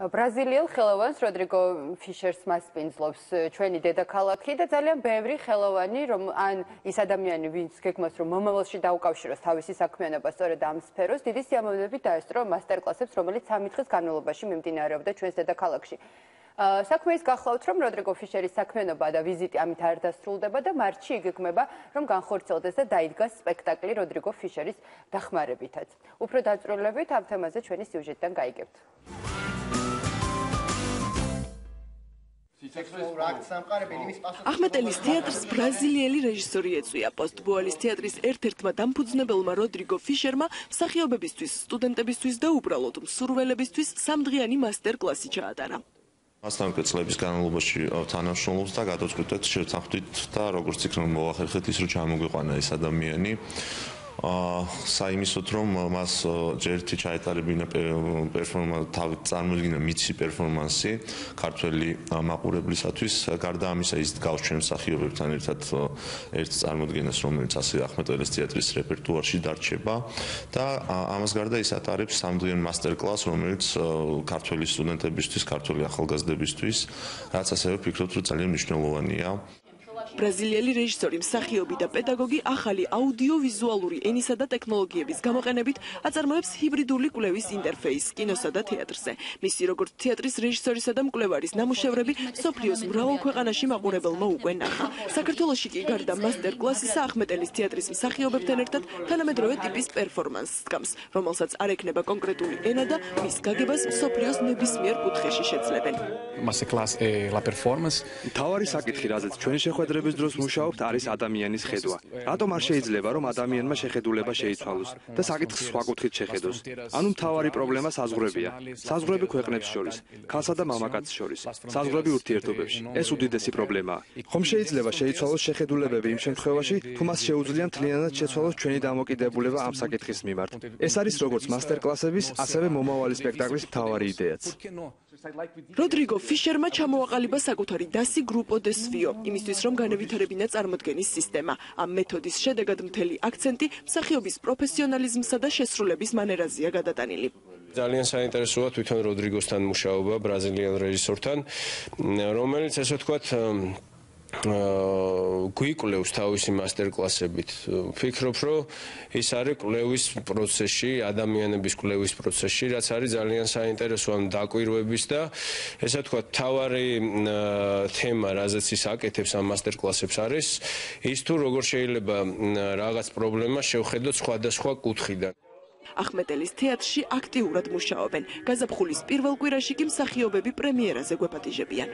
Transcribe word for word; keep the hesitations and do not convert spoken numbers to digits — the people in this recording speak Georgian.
ბრაზილიელ ხელოვანს როდრიგო ფიშერს მასპინძლობს ჩვენი დედაქალაქი და ძალიან ბევრი ხელოვანი რომ ან ის ადამიანი ვინც გეგმავს რომ მომავალში დაუკავშიროს თავისი საქმიანობა სწორედ ამ სფეროს დიდი სიამოვნებით დაესწრო მასტერკლასებს რომელიც სამი დღის განმავლობაში მიმდინარეობდა ჩვენს დედაქალაქში. საქმე ის გახლავთ რომ როდრიგო ფიშერის საქმიანობა და ვიზიტი ამით არ დასრულდება და მარტში იგეგმება რომ განხორციელდეს და დაიდგას სპექტაკლი როდრიგო ფიშერის დახმარებითაც. უფრო დაწვრილებით ამ თემაზე ჩვენი სიუჟეტიდან გაიგებთ. ახმეტელის თეატრს ბრაზილიელი რეჟისორი ეწვია. პოსტბოალის თეატრის ერთ-ერთმა დამფუძნებელმა როდრიგო ფიშერმა მსახიობებისთვის, სტუდენტებისთვის და უბრალოდ მსურველებისთვის სამდღიანი მასტერკლასი ჩაატარა. მასთან წლების განმავლობაში თანამშრომლობს და გადავწყვიტეთ შევთანხმდით და როგორც იქნება მოახერხეთ ის რომ ჩამოგვიყვანა ეს ადამიანი. საიმისოთ რომ მას ჯერთი ჩაეტარებინა პერფორმანსი თავი წარმოიდგინა მიცი პერფორმანსი ქართველი მაყურებლისათვის გარდა ამისა ის გავს ჩვენ მსახიობებთან ერთად ერთ წარმოდგენას რომელიც ასე ახმეტელის თეატრის რეპერტუარში დარჩება და ამას გარდა ის ატარებს სამდღიან მასტერკლასს რომელიც ქართველი სტუდენტებისთვის ქართველი ახალგაზრდებისთვის რაც ასევე ვფიქრობ რომ ძალიან მნიშვნელოვანია. ბრაზილიელი რეჟისორი, მსახიობი და პედაგოგი ახალი აუდიოვიზუალური ენისა და ტექნოლოგიების გამოყენებით აწარმოებს ჰიბრიდული კვლევის ინტერფეისს კინოსა და თეატრზე. მისი როგორც თეატრის რეჟისორისა და მკვლევარის ნამუშევრები მსოფლიოს მრავალ ქვეყანაში მაყურებელმა უკვე ნახა. საქართველოში კი გარდა მასტერკლასისა ახმეტელის თეატრის მსახიობებთან ერთად თანამედროვე ტიპის პერფორმანსს დგამს, რომელსაც არ ექნება კონკრეტული ენა და მის გაგებას მსოფლიოს ნებისმიერ კუთხეში შეძლებენ. თავარი საკითხი, რაზეც ჩვენი შეხვედრების დროს მუშაობთ, არის ადამიანის ხედვა. რატომ არ შეიძლება რომ ადამიანმა შეხედულება შეიცვალოს და საკითხს სხვა კუთხით შეხედოს? ანუ მთავარი პრობლემა საზღვრებია. საზღვრები ქვეყნებს შორის, ქალსა და მამაკაცს შორის, საზღვრები ურთიერთობებში. ეს უდიდესი პრობლემაა. ხომ შეიძლება შეიცვალოს შეხედულებები იმ შემთხვევაში, თუ მას შეუძლია მთლიანად შეცვალოს ჩვენი დამოკიდებულება ამ საკითხის მიმართ. ეს არის როგორც მასტერკლასების, ასევე მომავალი სპექტაკლის მთავარი იდეაც. როდრიგო ფიშერმა ჩამოაყალიბა საკუთარი დასი გრუპო დე სვიო, იმისთვის რომ განევითარებინა წარმოდგენის სისტემა. ამ მეთოდის შედეგად მთელი აქცენტი მსახიობის პროფესიონალიზმსა და შესრულების მანერაზეა გადატანილი. ძალიან საინტერესოა თვითონ როდრიგოსთან მუშაობა ბრაზილიელ რეჟისორთან, რომელიც ესე ვთქვათ გვიკვლევს თავისი მასტერკლასებით. ვფიქრობ, რომ ის არის კვლევის პროცესში, ადამიანების კვლევის პროცესში, რაც არის ძალიან საინტერესო ამ დაკვირვების და ესე ვთქვათ, თავარი თემა, რაზეც ის აკეთებს ამ მასტერკლასებს არის ის თუ როგორ შეიძლება რაღაც პრობლემა შევხედოთ სხვადასხვა კუთხიდან. ახმეტელის თეატრში აქტიურად მუშაობენ. გაზაფხულის პირველ კვირაში კი მსახიობები პრემიერაზე გვეპატიჟებიან.